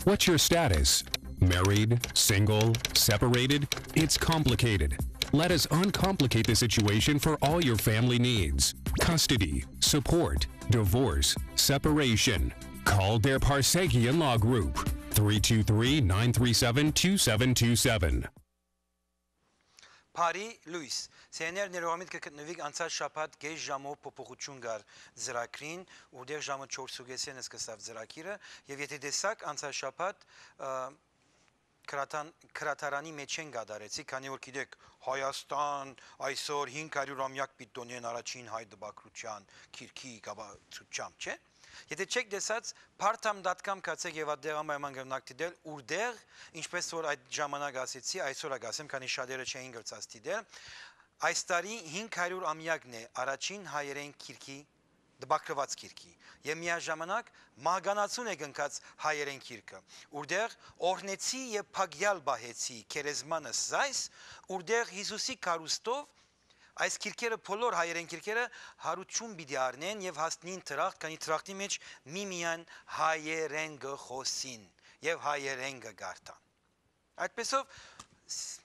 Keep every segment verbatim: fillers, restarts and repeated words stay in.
What's your status? Married, single, separated? It's complicated. Let us uncomplicate the situation for all your family needs. Custody, support, divorce, separation. Call Deir Parsekian Law Group, three two three, nine three seven, two seven two seven. Բարի լոյս։ Սեներ ներողամիտ կը գտնուիք, անցած շաբաթ կես ժամով փոփոխություն կար ծրագրին, որտեղ ժամը չորս ու կեսէն սկսաւ ծրագիրը, եւ եթե տեսաք, անցած շաբաթ, ը, գրադան-, գրադարանի մեջ են կատարեցի, քանի որ գիտեք, Հայաստան այսօր հինգ հարիւր ամեակ պիտի տոնի են առաջին հայ տպագրութեան գիրքի կապակցությամբ, չէ՞։ Եթե չեք տեսած, partam dot com գացեք եւ ատտեղ անպայման կրնաք դիտել, ուրտեղ, ինչպես որ այդ ժամանակ ասեցի, այսօր ա կասեմ, քանի շատերը չէին կրցած դիտել, այս տարի հինգ հարիւր ամեակն է առաջին հայերէն գիրքի, տպագրուած գիրքի, եւ միաժամանակ մահկանացուն է կնքած հայերէն գիրքը, ուրտեղ օրհնեցի եւ փակյալ պահեցի գերեզմանս զայս, ուրտեղ Յիսուսի կառուստով այս գիրքերը, բոլոր հայերէն գիրքերը, յարութիւն պիտի առնեն եւ հասնին դրախտ, քանի դրախտի մեջ միմիայն հայերէն կը խօսին եւ հայերէն կը կարդան։ Այդպեսով, ս-,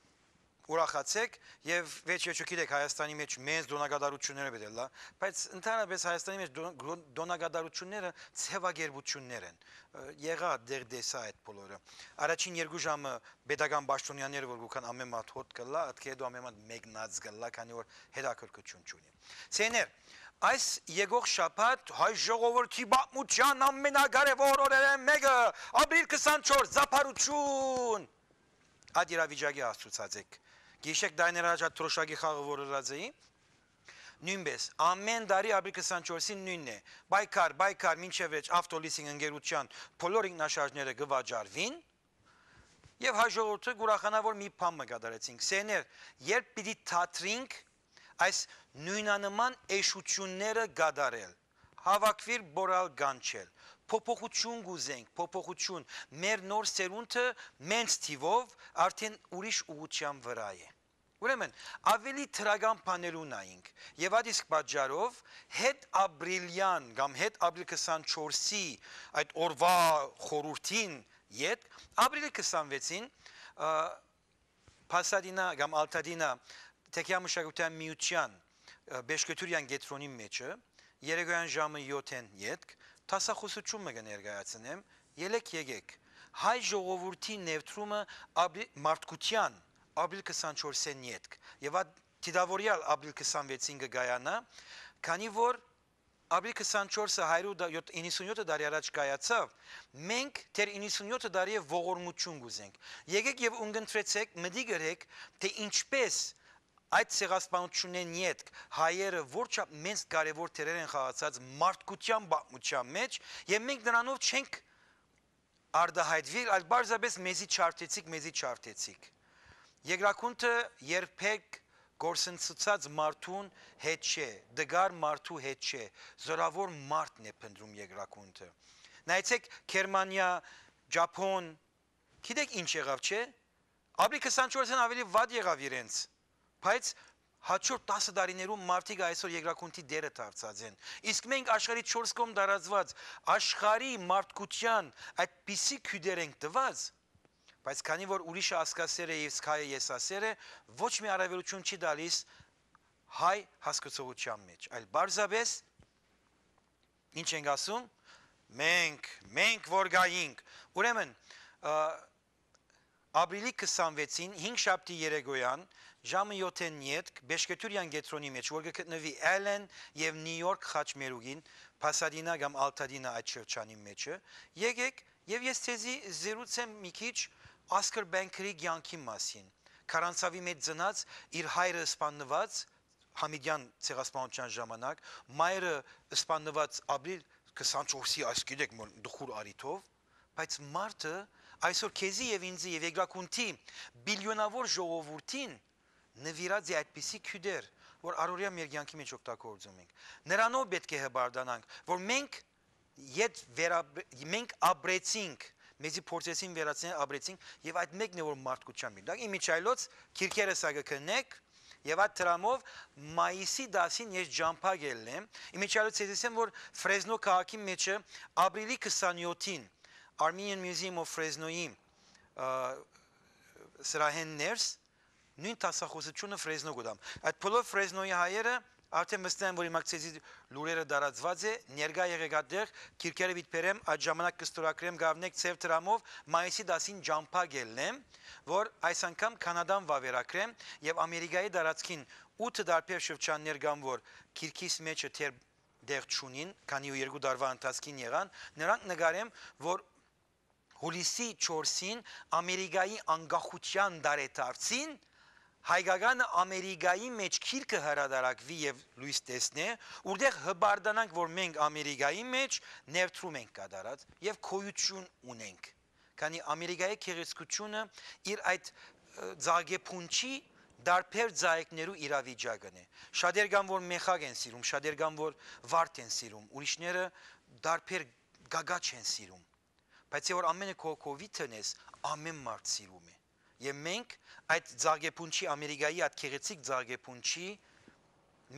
ուրախացեք, եւ վերջ-վերջո գիտեք, Հայաստանի մեջ մեծ տոնակատարութիւնները պիտի ըլլայ, բայց ընդհանրապես Հայաստանի մեջ տոն-, տոնակատարութիւնները ձեւակերպութիւններ են։ Ը, եղայ, դեռ տեսայ այդ բոլորը։ Առաջին երկու ժամը պետական պաշտոնյաները որ կու գան, ամէն մատ հոտ կ'ըլլայ, ատկէ հետո ամէն մատ մեկնած կ'ըլլայ, քանի որ հետաքրքրութիւն չունի։ Սեներ, այս եկող շաբաթ հայ ժողովրդի պատմութեան ամենակարեւոր օրերէն մէկը, ապրիլ քսանչորս, ծափարութիւն, այդ իրավիճակի հասցուցած էք։ Գիշեք, տարիներ առաջ այդ թրոշակի խաղը որ ըրած էի, նոյնպէս, ամէն տարի ապրիլ քսանչորսին նոյնն է։ Պայքար, պայքար, մինչեւ վերջ, Ավտոլիսինգ ընկերութեան բոլոր ինքնաշարժները կը վաճառուին, եւ հայ ժողովուրդը կ'ուրախանայ, որ մի բան մը կատարեցինք։ Սեներ, երբ պիտի դադրինք այս նոյնանման էշութիւնները կատարել, հաւաքուիլ, պորալ, կանչել, փոփոխութիւն կ'ուզենք, փոփոխութիւն, մեր նոր սերունդը մենց թիւով արդէն ուրիշ ուղղութեան վրայ է։ Ուրեմն, աւելի դրական բաներու նայինք, եւ այդ իսկ պատճառով հետ ապրիլեան կամ հետ ապրիլ քսանչորսի այդ օրուայ խորհուրդին ետք, ապրիլի քսանվեցին, ը, Փասադինա կամ Ալթադինա թեքեամշակութային միութեան, ը, Պեշկեթուրեան կեդրոնի մէջը, երեկոյեան ժամը եօթէն ետք, դասախօսութիւն մը կը ներկայացնեմ, ելեք եկեք, հայ ժողովուրդի ներդրումը ապրի-, մարդկութեան ապրիլ քսանչորսէն ետք, եւ այդ դիտաւորեալ ապրիլ քսանվեցին կը կայանայ, քանի որ ապրիլ քսանչորսը հարիւր, իննսունյոթ տարի առաջ կայացաւ, մենք դեռ իննսունյոթ տարի է ողորմութիւն կ'ուզենք։ Եկեք եւ ունկնդրեցեք, մտիկ ըրեք, թէ ինչպես այդ ցեղասպանութիւններէն ետք հայերը որչափ մեծ կարեւոր դերեր են խաղացած մարդկութեան պատմութեան մեջ, եւ մենք նրանով չենք արտայայտուիլ, այլ պարզապէս մեզի չարդեցիք, մեզի չարդեցիք։ Երկրագունդը երբեք կորսնցուցած մարդուն հետ չէ, տկար մարդու հետ չէ, զորաւոր մարդն է փնտռում երկրագունդը։ Նայեցեք, Գերմանիա, Ճափոն, գիտեք ինչ եղաւ, չէ՞։ Ապրիլ քսանչորսէն աւելի վատ եղաւ իրենց, բայց հաջորդ տասը տարիներուն մարդիկ այսօր երկրագունդի տերը դարձած են։ Իսկ մենք աշխարհի չորս կողմ տարածուած, աշխարհի մարդկութեան այդպիսի քիւտեր ենք տուած, բայց քանի որ ուրիշը ասկասեր է, իսկ հայը եսասեր է, ոչ մի առավելութիւն չի տալիս հայ հասկացողութեան մեջ, այլ պարզապէս, ինչ ենք ասում, մենք, մենք որ գայինք։ Ուրեմն, ը, ապրիլի քսանվեցին, հինգշաբթի երեկոյեան, ժամը եօթէն ետք, Պեշկեթուրեան կեդրոնի մեջ, որ կը գտնուի Ալլեն եւ Նիու Յորք խաչմերուկին, Փասադինա կամ Ալթադինա այդ շրջանի մեջը, եկեք եւ ես ձեզի զրուցեմ մի քիչ Ասքըր Պենքերի կեանքի մասին։ Քարանցաւի մեջ ծնած, իր հայրը սպաննուած Համիդեան ցեղասպանութեան ժամանակ, մայրը սպաննուած ապրիլ քսանչորսի, այս գիտեք, մոր տխուր առիթով, բայց մարդը այսօր քեզի եւ ինձի եւ երկրագունդի բիլիոնաւոր ժողովուրդին նուիրած է այդպիսի քիւտեր, որ առօրեայ մեր կեանքի մեջ օգտագործում ենք։ Նրանով պէտք է հպարտանանք, որ մենք ետ վերապ-, մենք ապրեցինք, մեզի փորձեցին վերացնել, ապրեցինք, եւ այդ մեկն է, որ մարդկութեան միտակ։ Ի միջայլոց, քիրքերը սա կը քննեք, եւ այդ դրամով մայիսի տասին ես ճամբա գելլեմ։ Ի միջայլոց, ես ասեմ, որ Ֆրեզնո քաղաքի մեջը ապրիլի քսանյոթին Armenian Museum of Fresno-ի, ը, սրահէն ներս նոյն դասախօսութիւնը Ֆրեզնո կու տամ։ Այդ բոլոր Ֆրեզնոյի հայերը արդէն վստահ են, որ իմ ակցիզի լուրերը տարածուած է, ներկայ եղեք այդտեղ, գիրքերը պիտի բերեմ, այդ ժամանակ կստորագրեմ, գարնեք ձեր դրամով, մայիսի տասին ճամբայ կ'ելնեմ, որ այս անգամ Քանադան վաւերագրեմ եւ Ամերիկայի տարածքին ութը տարբեր շրջաններ կան, որ գիրքիս մեջը դեռ տեղ չունին, քանի ու երկու տարուայ ընթացքին եղան, նրանք նկարեմ, որ հուլիսի չորսին Ամերիկայի անկախութեան տարեդարձին հայկականը Ամերիկայի մէջ գիրքը հրատարակուի եւ լոյս տեսնէ, ուրտեղ հպարտանանք, որ մենք Ամերիկայի մէջ ներդրում ենք կատարած եւ գոյութիւն ունենք։ Քանի Ամերիկայի գեղեցկութիւնը իր այդ, ը, ծաղկեփունջի տարբեր ծաղիկներու իրավիճակն է։ Շատեր կան, որ մեխակ են սիրում, շատեր կան, որ վարդ են սիրում, ուրիշները տարբեր գագաչ են սիրում։ Բայց է որ ամենը քո, քո կովի տնես, ամեն մարդ սիրում է։ Եւ մենք այդ ծաղկեփունջի, Ամերիկայի այդ գեղեցիկ ծաղկեփունջի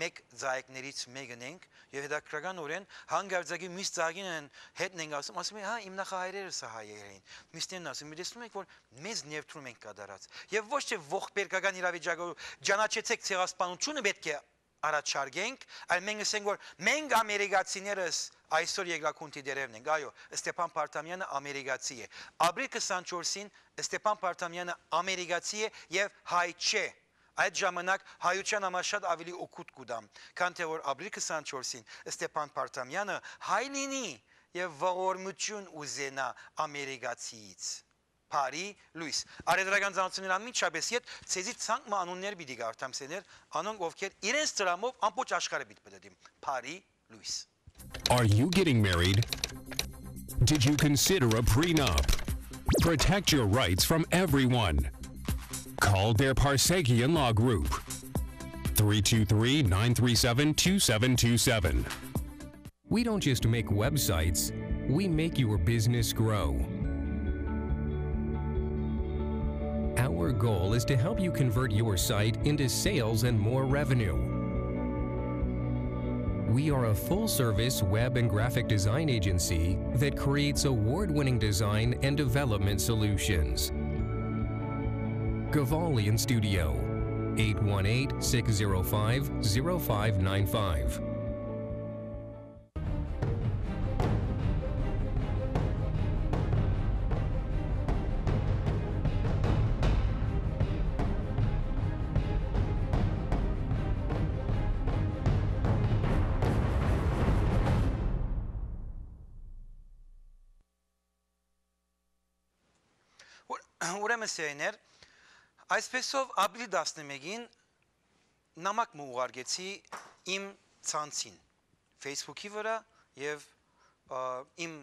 մէկ ծաղիկներից մեկն ենք, եւ հետաքրքրականօրէն հանկարծակի մյուս ծաղկին են, հետն ենք ասում, ասում են, «Հա, իմ նախահայրերը սա հայեր էին»։ Մյուսներն ասում, «Մի տեսնում եք, որ մեզ ներդրում ենք կատարած»։ Եւ ոչ թե ողբերգական իրավիճակով ճանաչեցեք ցեղասպանությունը պէտք է առաջարկենք, այլ մենք ասենք, որ մենք ամերիկացիներս այսօր երկրագունդի դերերն ենք։ Այո, Ստեփան Պարտամեանը ամերիկացի է։ Ապրիլ քսանչորսին Ստեփան Պարտամեանը ամերիկացի է եւ հայ չէ։ Այդ ժամանակ հայութեան համար շատ ավելի օգուտ կու տամ, քան թե որ ապրիլ քսանչորսին Ստեփան Պարտամեանը հայ լինի եւ ողորմութիւն ուզենայ ամերիկացիից։ Բարի լոյս։ Առեւտրական ծանոթություններ անմիջապէս յետ, ձեզի ցանկ մը անուններ պիտի կարդամ, սեներ, անոնք ովքեր իրենց դրամով ամբողջ աշխարհը պիտի պտտին։ Բարի լոյս։ Are you getting married? Did you consider a prenup? Protect your rights from everyone. Call Der Parsekian Law Group. Three two three, nine three seven, two seven two seven. We don't just make websites, we make your business grow. Our goal is to help you convert your site into sales and more revenue. We are a full-service web and graphic design agency that creates award-winning design and development solutions. Gavalian Studio, eight one eight, six zero five, zero five nine five. Ուր-, ուրեմն, սիրելիներ, այսպեսով ապրիլի տասնմէկին նամակ մը ուղարկեցի իմ ցանցին, Facebook-ի վրա եւ, ա, իմ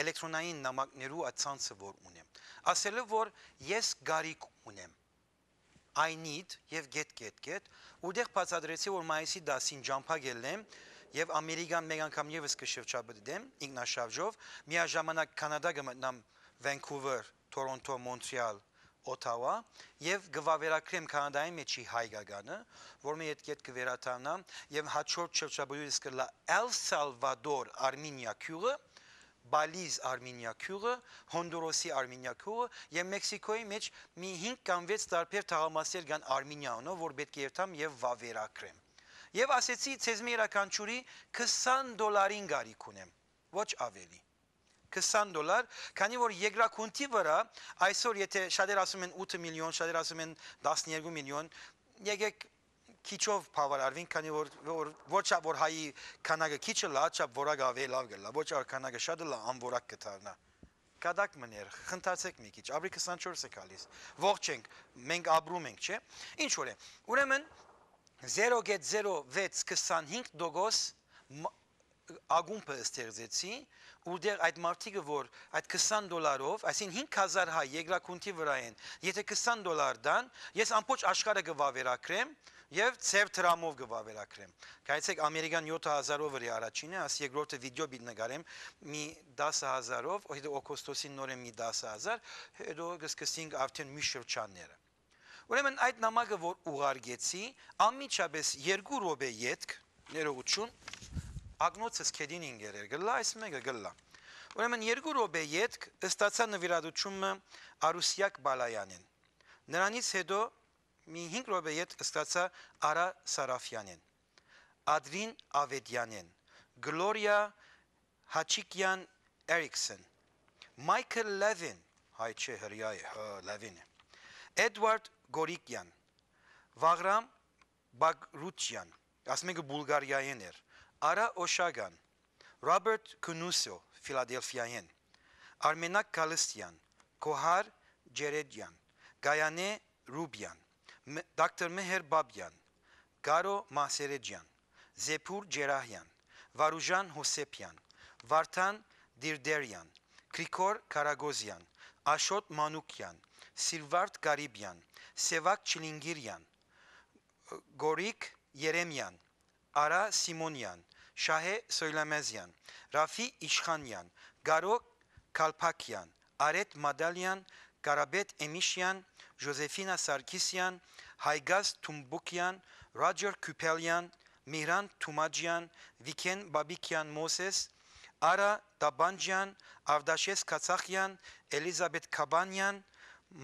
էլեկտրոնային նամակներու այդ ցանցը որ ունեմ, ասելով, որ ես կարիք ունեմ, I need եւ գետ, գետ, գետ, ուրտեղ բացատրեցի, որ մայիսի տասին ճամբայ կ'ելնեմ եւ Ամերիկան մէկ անգամ եւս կը շրջապտեմ ինքնաշարժով, միաժամանակ Քանադա կը մտնամ, Vancouver, Toronto, Montreal, Ottawa, եւ կը վաւերագրեմ Քանադայի մէջի հայկականը, որ մը ետք-ետք կը վերադառնամ, եւ հաջորդ շրջապտույտս կ'ըլլայ El Salvador, Արմինիա գիւղը, Բալիզ, Արմինիա գիւղը, Հոնդուրոսի, Արմինիա գիւղը, եւ Մեքսիքոյի մէջ մի հինգ կամ վեց տարբեր թաղամասեր կան Արմինիա անով, որ պէտք է երթամ եւ վաւերագրեմ։ Եւ ասեցի, ձեզմէ իւրաքանչիւրի քսան դոլարին կարիք ունեմ, ոչ ավելի։ Քսան դոլար, քանի որ երկրագունդի վրա այսօր, եթե շատեր ասում են ութը միլիոն, շատեր ասում են տասներկու միլիոն, եկեք քիչով բաւարարվենք, քանի որ, որ, ոչ ա-, որ հայի քանակը քիչ ըլլայ, չափ որակը աւելի լաւ կ'ըլլայ, ոչ ա-, քանակը շատ ըլլայ, անորակ կը դառնայ։ Կատակ մներ, խնդացեք մի քիչ, ապրիլ քսանչորս է գալիս, ողջ ենք, մենք ապրում ենք, չէ՞։ Ինչ որ է, ուրեմն, զերո գեթ զերո վեց քսանհինգ տոկոս մ-, ակումբը ստեղծեցի, ուրտեղ այդ մարդիկը, որ այդ քսան դոլարով, այսինքն՝ հինգ հազար հայ երկրագունդի վրայ են, եթե քսան դոլար տան, ես ամբողջ աշխարհը կը վաւերագրեմ եւ ձեր դրամով կը վաւերագրեմ։ Գայցեք, ամերիկան յոթ հազարով վրայ առաջինը, աս երկրորդը վիդեո պիտի նկարեմ, մի տասը հազարով, հետո օգոստոսին նորեն մի տասը հազար, հետո կսկսենք արդեն մյուս շրջանները։ Ուրեմն այդ նամակը, որ ուղարկեցի, անմիջապէս երկու րոպե ետք, ներողություն, ակնոցս քեդին ինգերեր կլա, այս մեկը կլա։ Ուրեմն երկու րոպէ ետք ստացայ նուիրատուութիւն մը Արուսեակ Բալայանէն։ Նրանից յետոյ մի հինգ րոպէ ետք ստացայ Արա Սարաֆեանէն, Ադրին Աւետեանէն, Գլորիա Հաչիկեան Էրիքսեն, Մայքլ Լևին, հայ չէ, հրեայ է, հա, Լևին է, Էդուարդ Գորիկեան, Վաղրամ Բագրուչեան, ասում ենք Բուլղարիայէն էր, Արա Օշագան, Ռոբերտ Քունուսո, Ֆիլադելֆիայէն, Արմենակ Կալստեան, Կոհար Ջերեջեան, Գայանե Ռուբիան, Մ-, դոկտոր Մեհեր Բաբեան, Կարո Մահսերեջեան, Զեփուր Ջերահեան, Վարուժան Հոսեփեան, Վարդան Դիրդերեան, Գրիգոր Քարագոզեան, Աշոտ Մանուկեան, Սիլվարդ Կարիբեան, Սեվակ Չիլինգիրեան, Գորիկ Երեմեան, Արա Սիմոնեան, Շահէ Սոյլամեզեան, Ռաֆի Իշխանեան, Կարո Քալփակեան, Արետ Մադալեան, Կարապետ Էմիշեան, Ժոզեֆինա Սարգիսեան, Հայգազ Թումբուկեան, Ռոջեր Քիփելեան, Միհրան Թումաճեան, Վիքեն Բաբիկեան Մոսես, Արա Տաբանջեան, Ավդաշես Քացախեան, Էլիզաբեթ Քաբանեան,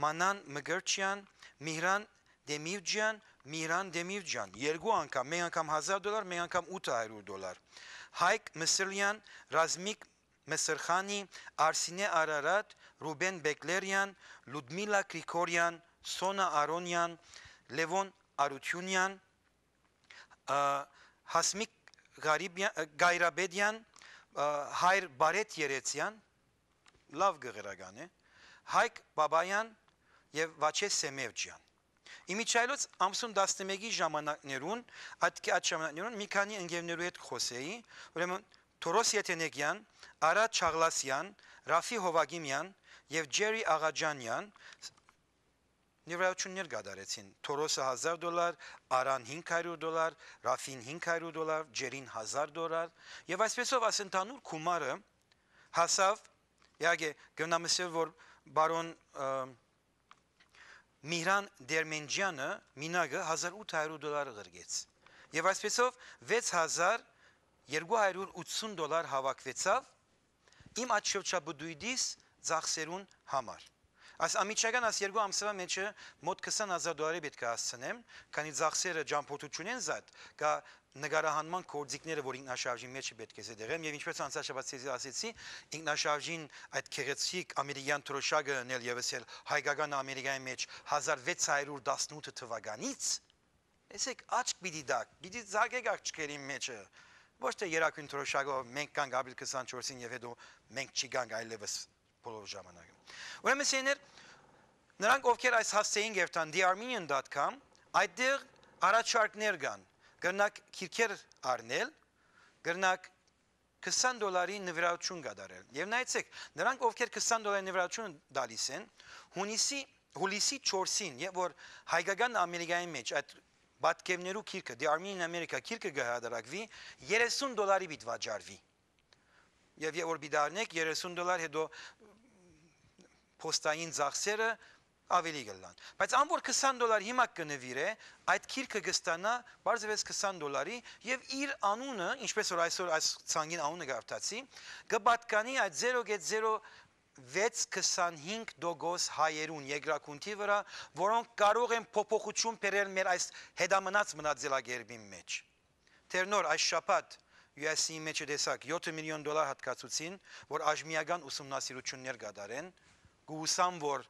Մանան Մկրչեան, Միհրան Դեմիրճեան, Միհրան Դեմիրճեան, երկու անգամ, մէկ անգամ հազար դոլար, մէկ անգամ ութ հարիւր դոլար, Հայկ Մսրլեան, Ռազմիկ Մսրխանի, Արսինէ Արարատ, Ռուբեն Բեկլերեան, Լուդմիլա Գրիգորեան, Սոնա Արոնեան, Լեւոն Արութիւնեան, ը, Հասմիկ Ղարիբեա-, ը, Գայրապետեան, ը, Հայր Բարեթ Երեցեան, լաւ գղերական է, Հայկ Բաբաեան եւ Վաչե Սեմեվճեան։ Իմիջայլոց ամսուն տասնմէկի ժամանակներուն, այդ, այդ ժամանակներուն մի քանի ընկերներու հետ կխօսէի, ուրեմն Թորոս Եթենեգեան, Արա Չաղլասեան, Ռաֆի Հովագիմեան եւ Ջերի Աղաճանեան նվիրատուություններ կատարեցին։ Թորոսը հազար դոլար, Արան հինգ հարիւր դոլար, Ռաֆին հինգ հարիւր դոլար, Ջերին հազար դոլար։ Եւ այսպեսով այս ընդհանուր գումարը հասաւ, իհարկե, կրնամ ըսել, որ բարոն, ը, Միհրան Դերմենջեանը մինակը հազար ութ հարիւր դոլար ղրկեց։ Եւ այսպեսով վեց հազար երկու հարիւր ութսուն դոլար հաւաքուեցաւ իմ այդ շրջապտույտիս ծախսերուն համար։ Այս անմիջական այս երկու ամսեան մէջը մօտ քսան հազար դոլարի պէտք է հասցնեմ, քանի ծախսերը ճամբորդութիւնէն զատ կայ նկարահանման գործիքները, որ ինքնաշարժին մէջը պէտք է զետեղեմ, եւ ինչպես անցյալ շաբաթ ձեզի ասեցի, ինքնաշարժին այդ գեղեցիկ ամերիկեան դրօշակը ընել եւս էլ հայկական Ամերիկայի մէջ հազար վեց հարիւր տասնութ թուականից, տեսեք, աչք պիտի տաք, պիտի զարկեք աղջկերին մէջը, ոչ թե երագոյն դրօշակով մենք կանք ապրիլ քսանչորսին եւ հետո մենք չի գանք այլեւս բոլոր ժամանակը։ Ուրեմն, սեներ, նրանք, ովքեր այս հասցեին կերտան the armenian dot com, այդտեղ առաջարկներ կան, կրնակ քիրքեր առնել, կրնակ քսան դոլարի նվիրատուություն կատարել։ Եվ նայեցեք, նրանք, ովքեր քսան դոլարի նվիրատուություն տալիս են, հունիսի, հուլիսի չորսին, երբ որ հայկական Ամերիկայի մեջ այդ պատկերներու քիրքը, The Armenian America քիրքը կը հրատարակվի, երեսուն դոլարի պիտի վաճառվի։ Եւ երբ որ պիտի առնեք երեսուն դոլար, հետո փոստային ծախսերը ավելի կլան։ Բայց ան որ քսան դոլար հիմա կը նվիրէ, այդ քիրքը կստանայ պարզվեց քսան դոլարի եւ իր անունը, ինչպես որ այսօր այս ցանկին անունը կարդացի, կը պատկանի այդ զերո գեթ զերո վեց քսանհինգ տոկոս հայերուն երկրագունդի վրայ, որոնք կարող են փոփոխություն բերել մեր այս հետամնաց մնացելակերպին մեջ։ Դեռ նոր այս շաբաթ յու էս սի-ի մեջ տեսակ յոթ միլիոն դոլար յատկացուցին, որ աժմիական ուսումնասիրություններ կատարեն, կ'ուսամ, որ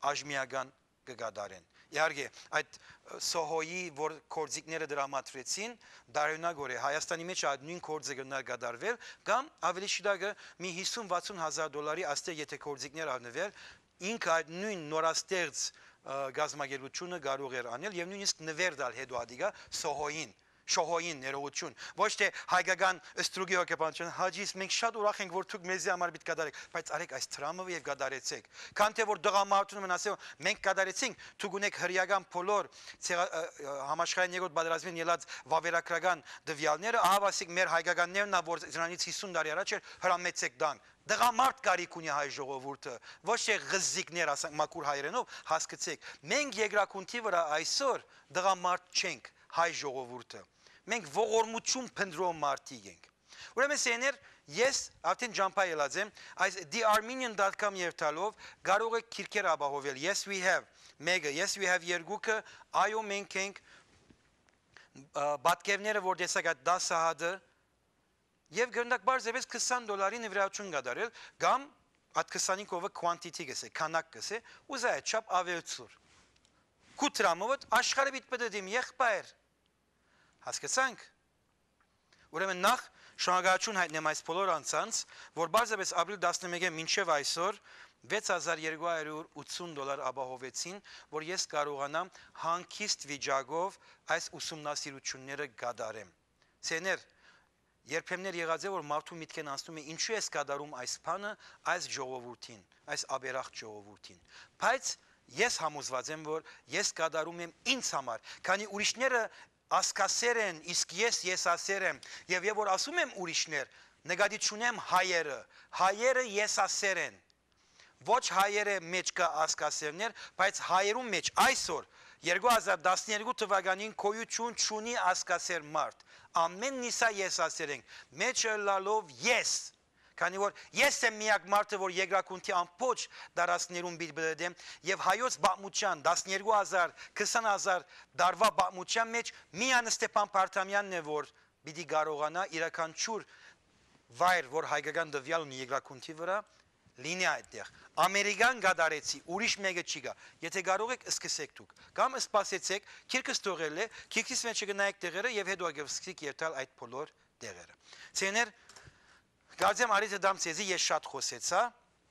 աժմիական կը կատարեն։ Իհարկե, այդ, ը, Սոհոյի, որ գործիքները դրամատրեցին, տարօրինակ օրէ Հայաստանի մեջ այդ նոյն գործը կրնար կատարվել, կամ ավելի շիտակը մի հիսուն վաթսուն հազար դոլարի աստեղ եթե գործիքներ առնուեր, ինքը այդ նոյն նորաստեղծ, ը, կազմակերպությունը կարող էր անել եւ նոյնիսկ նվեր տալ հետո ադիգա Սոհոյին, Շոհոյին ներողություն, ոչ թե հայկական ստրուկի հոգեբանության, Հաճիս, մենք շատ ուրախ ենք, որ դուք մեզի համար պիտի կատարեք, բայց արեք այս դրամը եւ կատարեցեք։ Քան թե որ տղամարդուն մնացել, մենք կատարեցինք, դուք ունեք հրեական բոլոր ցեղա-, ը, ը, համաշխարհային երկրորդ պատերազմին ելած վավերագրական տվյալները, ահա ասիկ մեր հայկականներն ա, որ դրանից հիսուն տարի առաջ էր, հրամեցեք տանք։ Տղամարդ կարիք ունի հայ ժողովուրդը, ոչ թե ղզիկներ, ասենք մաքուր հայերենով, հասկցեք։ Մենք երկրագունդի վրայ այսօր տղամարդ չենք, հայ ժողովուրդը։ Մենք ողորմություն փնտրող մարդիկ ենք։ Ուրեմն, սեներ, Ես արդեն ճամբայ ելած եմ, այս the armenian dot com երթալով կարող եք քիրքեր ապահովել։ Yes, we have մեկը, yes, we have երկուքը, այո, մենք ենք, ը, պատկերները, որ տեսակ այդ դասը հատը, եւ կրնակ պարզեպէս քսան դոլարի նվիրատուն կատարել, կամ այդ քսանինը quantity կ'ըսէ, քանակ կ'ըսէ, ուզայ այդ չափ աւելցուր։ Քու դրամովդ աշխարհը պիտի պտտիմ, եղբայր։ Հասկացանք։ Ուրեմն նախ շնորհակալություն հայտնեմ այս բոլոր անձանց, որ պարզապէս ապրիլ տասնմէկէն մինչեւ այսօր վեց հազար երկու հարիւր ութսուն դոլար ապահովեցին, որ ես կարողանամ հանգիստ վիճակով այս ուսումնասիրությունները կատարեմ։ Ցեներ, երբեմներ եղած է, որ մարդու միտքէն անցնում է, ինչու ես կատարում այս բանը այս ժողովուրդին, այս աբերախտ ժողովուրդին։ Բայց ես համոզված եմ, որ ես կատարում եմ ինձ համար, քանի ուրիշները ասկասեր են, իսկ ես եսասեր եմ, եւ, եւ որ ասում եմ ուրիշներ, նկատի չունեմ հայերը, հայերը եսասեր են։ Ոչ հայերը մէջ կայ ասկասերներ, բայց հայերուն մէջ այսօր, երկու հազար տասներկու թվականին գոյութիւն չունի ասկասեր մարդ։ Ամեն նիսա եսասեր ենք, մէջ ըլլալով ես, քանի որ ես եմ միակ մարդը, որ երկրագունդի ամբողջ տարածքներուն պիտի բլդեմ, եւ հայոց պատմութեան, տասներկու հազար, քսան հազար տարուայ պատմութեան մէջ միայն Ստեփան Փարթամեանն է, որ պիտի կարողանայ իւրաքանչիւր վայր, որ հայկական տուեալ ունի երկրագունդի վրայ, լինի այդտեղ։ Ամերիկան կատարեցի, ուրիշ մէկը չի գայ։ Եթե կարող եք, սկսեք դուք։ Կամ սպասեցեք, քիրքս թողել է, քիրքիս մէջը կը նայեք տեղերը եւ հետո կը սկսեք երթալ այդ բոլոր տեղերը։ Ցեներ, կարծեմ, առիթը տամ ձեզի, ես շատ խօսեցայ,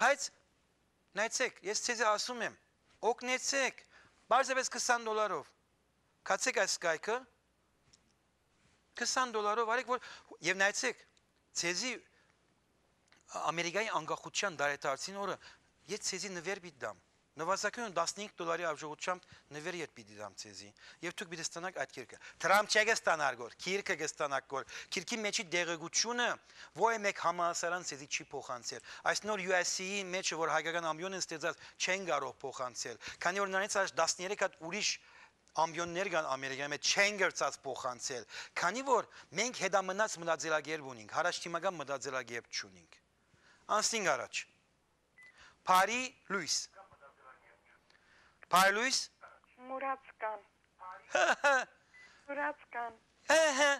բայց նայեցեք, ես ձեզի ասում եմ, օգնեցեք, պարզապէս քսան դոլարով։ Գացեք այս կայքը, քսան դոլարով արեք, որ, եւ նայեցեք, ձեզի Ամերիկայի անկախության տարեդարձին օրը ես ձեզի նուեր պիտի տամ։ Նվազագոյն տասնհինգ դոլարի արժողությամբ նուեր յետ պիտի տամ ձեզի, եւ դուք պիտի ստանաք այդ քիրքը։ Դրամ չէ կը ստանար գոր, քիրքը կը ստանաք գոր։ Քիրքի մէջի տեղեկութիւնը ո-, մէկ համալսարան ձեզի չի փոխանցել։ Այս նոր U S C-ի մէջը, որ հայկական ամբիոնն ստեղծած, չեն կարող փոխանցել, քանի որ նրանից առաջ տասներեք հատ ուրիշ ամբիոններ կան Ամերիկայի մեջ, չեն կրցած փոխանցել, քանի որ մենք հետամնաց մտածելակերպ ունենք, յառաջդիմական մտածելակերպ չունենք։ Անցնենք առաջ։ Բարի լոյս։ Բարի լոյս։ Մուրացկան։ Մուրացկան։ Հը, հը։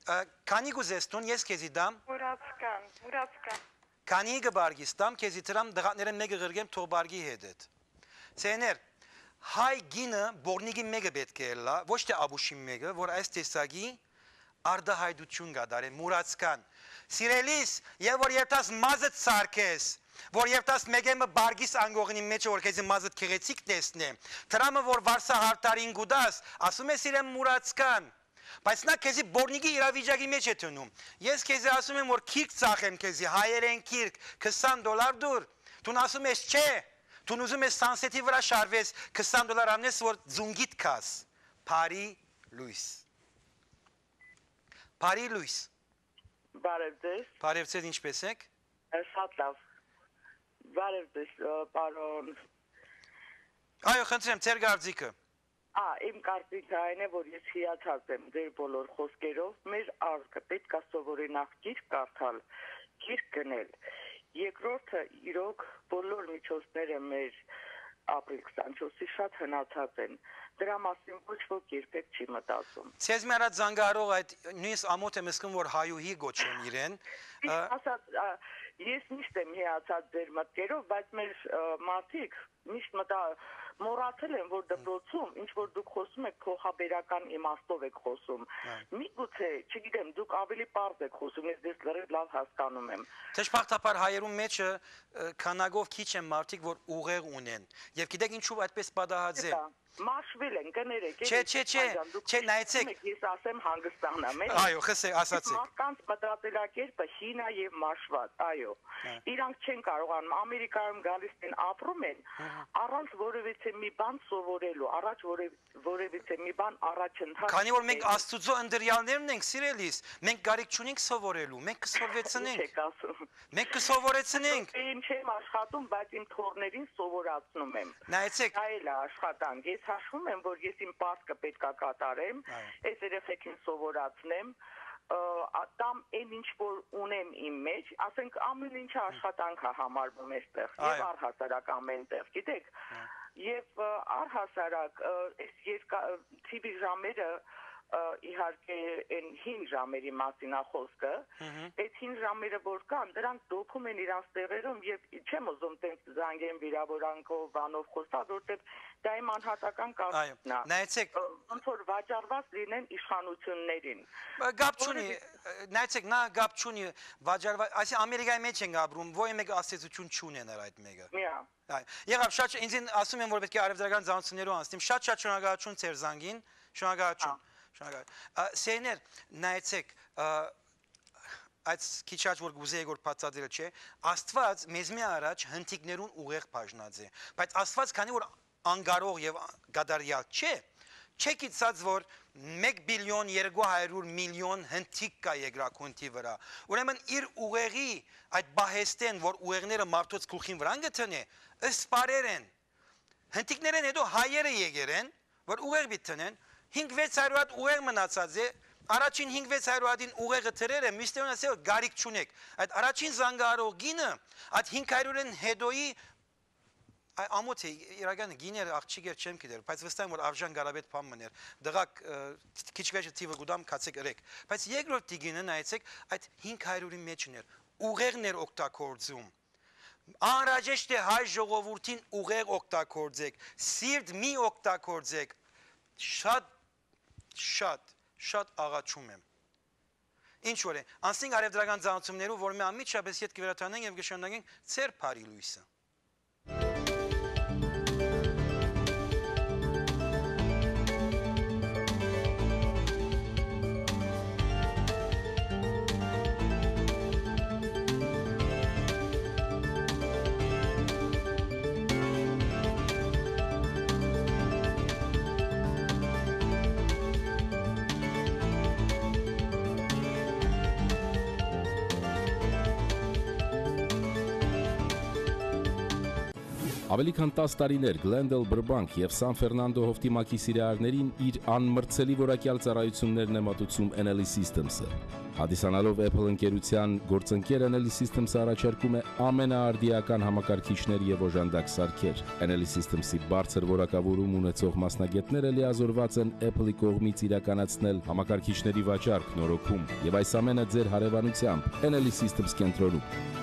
Ա, քանի կուզես տուն, ես քեզի տամ։ Մուրացկան, մուրացկան։ Քանի կը բարգիս տամ, քեզի դրամ, դղատներէն մէկը ղրկեմ, թող բարգի հետդ։ Ցեներ, հայ գինը բորնիկի մէկը պէտք է ըլլայ, ոչ թէ աբուշին մէկը, որ այս տեսակի արտահայտություն կատարէ, մուրացկան։ Սիրելիս, եւ որ երթաս մազդ սարքես, որ երթաս մէկէ մը բարգիս անկողնի մէջը, որ քեզի մազդ գեղեցիկ տեսնէ, դրամը որ վարսա հարդարին կու տաս, ասում ես իրեն մուրացկան, բայց նա քեզի բորնիկի իրավիճակի մէջ է դնում։ Ես քեզի ասում եմ, որ քիրք ծախեմ քեզի, հայերեն քիրք, քսան դոլար դուր, դուն ասում ես չէ, դուն ուզում ես Sunset-ի վրայ շարվես, քսան դոլար անես, որ ձունգիդ քաս։ Բարի լոյս։ Բարի լոյս։ Բարև ձեզ։ Բարև ձեզ, ինչպէս եք։ Շատ լավ։ Բարև ձեզ, ը, պարոն։ Այո, խնդրեմ, ձեր կարծիքը։ Ա, իմ կարծիքը այն է, որ ես հիացած եմ ձեր բոլոր խոսքերով։ Մեր ազգը պէտք է սովորի նախ գիրք կարդալ, գիրք գնել։ Երկրորդը, իրոք, բոլոր միջոցները մեր ապրիլ քսանչորսի շատ հնացած են։ Դրա մասին ոչ ոք երբեք չի մտածում։ Ձեզ մի առաջ զանգահարող այդ նոյնիսկ ամոթ եմ զգում, որ հայուհի գոչեմ իրեն։ Ա, Միշտ ասած, ա, ես միշտ եմ հիացած ձեր մտքերով, բայց մեր, ա, մարդիկ միշտ մտա-, մոռացել են, որ դպրոցում, ինչ որ դուք խոսում եք, փոխաբերական իմաստով եք խոսում։ Հա։ Միգուցե, չգիտեմ, դուք ավելի պարզ եք խոսում, ես ձեզ լրիվ լավ հասկանում եմ։ Դժբախտաբար հայերուն մեջը, ը, քանակով քիչ են մարդիկ, որ ուղեղ ունեն։ Եվ գիտեք ինչու այդպես պատահած է։ Դա մաշվել են, կներեք, Չէ, էլի, չէ, չէ, Սպանջան, դուք չէ, նայեցեք։ Եք, ես ասեմ հանգստանամ, էլի։ Այո, խսե-, Իսկ ասացեք։ Մարդկանց մտածելակերպը հին է և մաշված, այո։ Հա։ Իրանք չեն կարողանում, Ամերիկայում գալիս են, ապրում են, Հա, հա։ առանց որևիցե մի բան սովորելու, առաջ որև-, որևիցե մի բան առաջընթաց Քանի որ մենք չունենալու։ Աստուծո ընտրյալներն ենք, սիրելիս, մենք կարիք չունենք սովորելու, մենք կսովորեցնենք։ Ինչ եք ասում։ Մենք կսովորեցնենք։ Դե, չեմ աշխատում, բայց իմ թոռներին սովորացնում եմ։ Նայեցեք։ Դա էլ է աշխատանք։ Ես հաշվում եմ, որ ես իմ պարտքը պետք է կատարեմ, Այո։ այս երեխեքին սովորացնեմ, ը, ա, տամ այն ինչ որ ունեմ իմ մեջ, ասենք, ամեն ինչը աշխատանք է համարվում էստեղ, եւ Այո։ առհասարակ ամեն տեղ, գիտեք։ Այո։ Եւ, ը, առհասարակ, ը, այս երկա-, TV ժամերը, ը, իհարկե, այն հին ժամերի մասին ա խոսքը, Մհմ։ այդ հին ժամերը որ կան, դրանք դոփում են իրանց տեղերում, եւ չեմ ուզում տենց զանգեմ վիրավորանքով, բանով խոսալ, որտեւ դա իմ անհատական Այո, կարծիքն է։ նայեցեք, Ը, ոնց որ վաճառված լինեն իշխանություններին։ Ը, կապ չունի, Որովհետեւ ը, նայեցեք, նա կապ չունի վաճառվա-, այսինքն Ամերիկայի մեջ ենք ապրում, ոյ մեկը ազդեցություն չունենար այդ մեկը։ Միա։ Այ, եղավ, շատ, ինձ ին-, ասում են, որ պէտք է առևտրական ծանոթություններով անցնեմ, շատ, շատ շնորհակալություն ձեր զանգին, շնորհակալություն, Հա։ շնորհակալ-, ը, սերներ, նայեցեք, ը, այդ քիչ աջ որ կուզեի որ բացատրել չէ, Աստված մեզ մի առաջ հնդիկներուն ուղեղ բաժնած է, բայց Աստված քանի որ անկարող եւ կատարյալ չէ, չէ գիտցած որ մեկ բիլիոն երկու հարյուր միլիոն հնդիկ կա երկրագունդի վրա, ուրեմն իր ուղեղի այդ պահեստեն, որ ուղեղները մարդոց գլխին վրան կը տնէ, սպարեր են, հնդիկներէն հետո հայերը եկեր են, որ ուղեղ պիտի տնեն, հինգ վեց հարիւր հատ ուղեղ մնացած է, առաջին հինգ վեց հարիւր հատին ուղեղը դրեր է, մյուսներուն ասել որ կարիք չունեք։ Այդ առաջին զանգահարող գինը, այդ հինգ հարիւրէն հետոյի, այ, ամոթ է, իրական գիներ, աղջիկեր չեմ գիտեր, բայց վստահ եմ որ Աբժան Կարապետ բան մներ, դղակ, ը, քիչ վերջը թիվը կուտամ, քացեք ըրեք։ Բայց երկրորդ տիգինը նայեցեք, այդ հինգ հարիւրի մեջ ուներ, ուղեղն էր օգտագործում։ Անհրաժեշտ է հայ ժողովուրդին ուղեղ օգտագործեք, սիրտ մի օգտագործեք, շատ, շատ, շատ աղաչում եմ։ Ինչ որ է, անցնենք առևտրական ծանոթություններով, որ մենք անմիջապես ետ կվերադառնանք եւ կշարունակենք ձեր բարի լոյսը։ Աւելի քան տաս տարիներ Գլենդել Բրբանկ եւ Սան Ֆերնանդո հովտի մակի սիրահարներին իր անմրցելի որակեալ ծառայութիւններն է մատուցում Enelli Systems-ը։ Հանդիսանալով Apple ընկերութեան գործընկեր, Enelli Systems-ը առաջարկում է ամենաարդիական համակարգիչներ եւ օժանդակ սարքեր։ Enelli Systems-ի բարձր որակավորում ունեցող մասնագետները լիազորված են Apple-ի կողմից իրականացնել համակարգիչների վաճառք, նորոգում եւ այս ամենը ձեր հարեւանությամբ Enelli Systems կենտրոնում։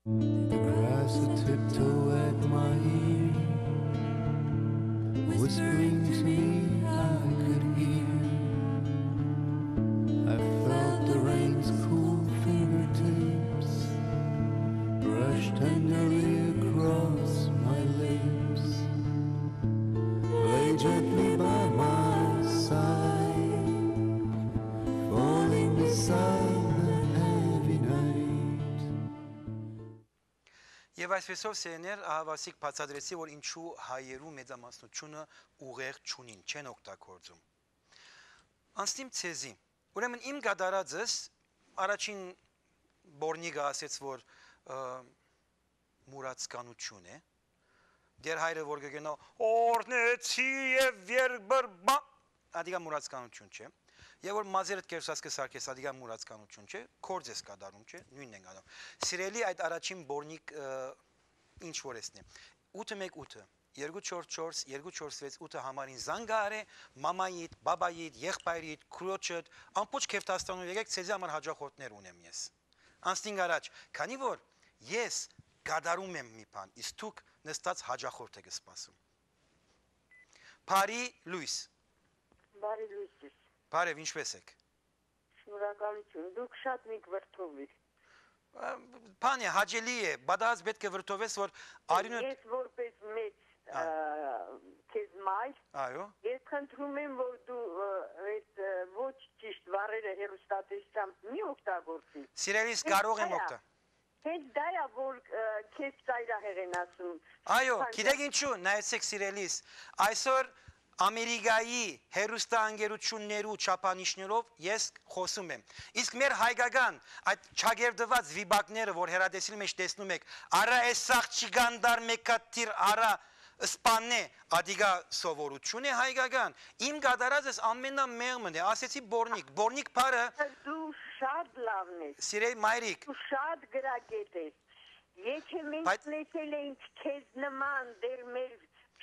The grass a tiptoe at my ear, whispering to me I could hear. I felt the rain's cool fingertips brush tenderly across my lips. Lay gently by my side, falling beside the heavy night. Եւ այսպեսով, սերներ, ահավասիկ բացատրեցի, որ ինչու հայերու մեծամասնությունը ուղեղ չունին, չեն օգտագործում։ Անցնիմ ձեզի։ Ուրեմն իմ կատարածս առաջին բորնիկը ասեց, որ, ը, մուրացկանություն է։ Դեր հայրը որ կգնա, «Օրհնեցի եւ երկրպագ», ադիկա մուրացկանություն չէ։ Եւ որ մազերդ կերսած կը սարքես, ադիկա մուրացկանություն չէ, կորձ ես կատարում, չէ, նույնն ենք անում։ Սիրելի, այդ առաջին բորնիկ, ը, ինչ որ էսն է։ Ութը մեկ ութը, երկու չորս չորս, երկու չորս վեց ութը համարին զանգ արե, մամայիդ, բաբայիդ, եղբայրիդ, քրոջդ, ամբողջ Քերթաստանով եկեք, ձեզի համար հաճախորդներ ունեմ ես։ Անցնինք առաջ, քանի որ ես կատարում եմ մի բան, իսկ դուք նստած հաճախորդ եք սպասում։ Բարի լույս։ Բարի լույս ձեզ։ Բարև, ինչպե՞ս եք։ Շնորհակալություն, դուք շատ մինք վրդովիր։ Ա, բան է, հաճելի է, բադաց պետք է վրդովես, որ արիւնը Ես որպես մեծ, Ա։ ա, քեզ մայր, Այո։ ես խնդրում եմ, որ դու, ը, այդ, ը, ոչ ճիշտ վառերը հեռուստատեսությամբ մի օգտագործի։ Սիրելիս, Ես կարող եմ հայ ա։ օգտա-, Հենց դա ա, որ, ը, քեզ ծայրահեղ են ասում։ Այո, Քանզա- գիտեք ինչու, նայեցեք, սիրելիս, այսօր Ամերիկայի հեռուստաընկերություններու չափանիշներով ես խոսում եմ։ Իսկ մեր հայկական այդ չակերտուած վիպակները, որ հեռատեսիլի մեջ տեսնում եք, արա էս աղջիկան դար մեկատիր, արա սպաննե, ադիգա սովորություն է հայկական։ Իմ կատարած ես ամենամեղմն է, ասեցի բորնիկ, բորնիկ բառը Դու շատ լավն ես, սիրեի մայրիկ, դու շատ գրագետ ես։ Եթե մենք Բայց- լսել էինք քեզ նման դեռ մեր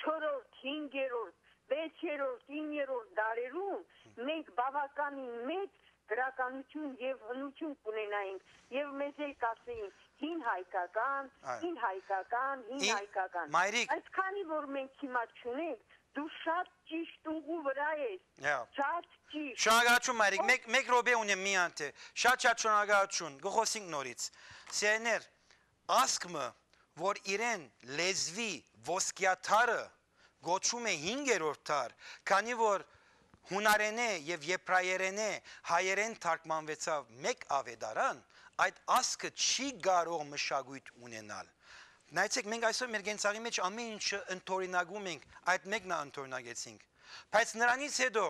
չորրորդ, հինգերորդ, վեցերորդ, իններորդ դարերուն, մենք բավականին մեծ գրականություն եւ հնություն կունենայինք, եւ մեզ էլ կասեին՝ հին հայկական, Այո։ հին հայկական, հին Իմ հայկական։ մայրիկ- Բայց քանի որ մենք հիմա չունենք, դու շատ ճիշտ ուղու վրա ես, Հա։ շատ ճիշտ։ Շնորհակալություն, մայրիկ, Ո- մեկ, մեկ րոպե ունեմ միայն թե։ Շատ շատ շնորհակալություն, կը խոսենք նորից։ Սիրելիներ, ազգ մը, որ իրեն լեզուի ոսկեաթարը կոչում է հինգերորդ դար, քանի որ հունարենէ եւ եբրայերենէ հայերէն թարգմանուեցաւ մեկ աւետարան, այդ ազգը չի կարող մշակոյթ ունենալ։ Նայեցեք, մենք այսօր մեր կենցաղի մեջ ամեն ինչը ընդօրինակում ենք, այդ մեկն ա ընդօրինակեցինք։ Բայց նրանից հետո,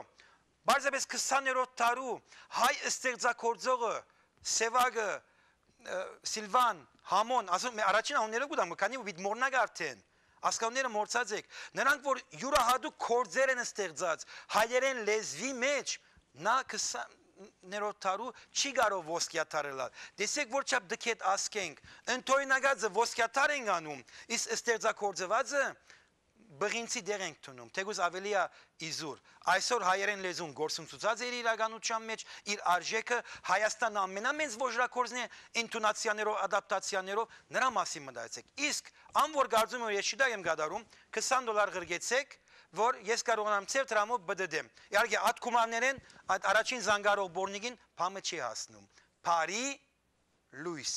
պարզապէս քսաներորդ դարու հայ ստեղծագործողը, Սեւակը, ը, Սիլվան, Համոն, ասում, մե- առաջին անունները կու տամ, քանի որ պիտի մոռնաք արդեն, ասկանները մոռցած եք, նրանք որ յուրահատուկ գործեր են ստեղծած հայերեն լեզուի մեջ, նա քսաներորդ դարու չի կարող ոսկեաթար ըլալ։ Տեսեք, որ չափ դքետ ազգ ենք, ընդօրինակածը ոսկեաթար ենք անում, իսկ ստեղծագործվածը բղինցի դեղ ենք դնում, թեկուզ ավելի ա իզուր։ Այսօր հայերեն լեզուն գործընծուցած է իր իրականության մեջ, իր արժեքը, Հայաստանը ամենամեծ ոժրագործն է ընդունացիաներով, ադապտացիաներով, նրա մասին մտածեք։ Իսկ ան որ կարծում եմ, որ ես շիտակ եմ կատարում, քսան դոլար ղրկեցեք, որ ես կարողանամ ձեր դրամով պտտեմ։ Իհարկե, այդ գումարներէն, այդ առաջին զանգարող բորնիկին բամը չի հասնում։ Բարի լոյս։